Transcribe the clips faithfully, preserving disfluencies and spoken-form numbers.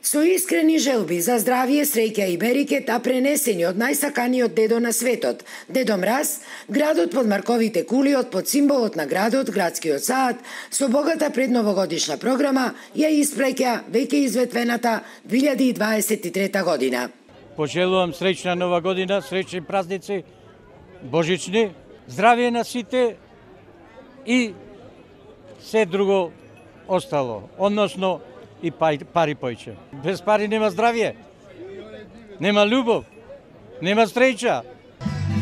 Со искрени желби за здравје, среќа и берекет, а пренесени од најсаканиот дедо на светот, Дедо Мраз, градот под марковите кулиот, под символот на градот, градскиот сад, со богата предновогодишна програма, ја испреќа веќе изветвената две илјади дваесет и трета година. Пожелувам среќна нова година, среќни празници, божични, здравје на сите и се друго остало, односно и пари појче. Без пари нема здравје, нема љубов, нема среќа.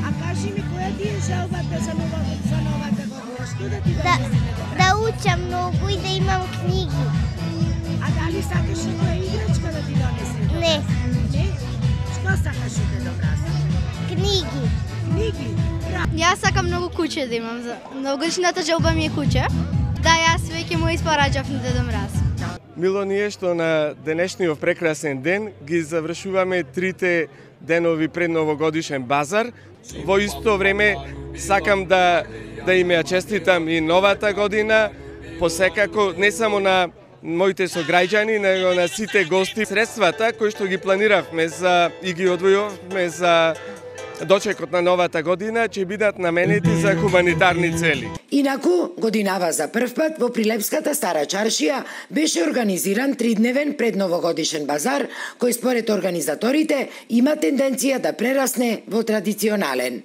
А кажи ми, која ти е желбата за, нова, за новата година? Што да ти да, да учам многу и да имам книги. А дали сакаш некоја играчка да ти донесе? Не. Не? Што сакаш от Дедо Мраз? Книги. Книги? Јас сакам многу куќе да имам. Новогодишната желба ми е куќе. Да, јас веќе му испораѓав на Дедо Мраз. Мило ни е што на денешниот прекрасен ден ги завршуваме трите денови пред новогодишен базар. Во исто време сакам да да им ја честитам и новата година, посекако не само на моите сограѓани, него на сите гости. Средствата кои што ги планиравме за и ги одвојувавме за дочекот на новата година ќе бидат наменети за хуманитарни цели. Инаку, годинава за прв пат во Прилепската Стара Чаршија беше организиран тридневен предновогодишен базар, кој според организаторите има тенденција да прерасне во традиционален.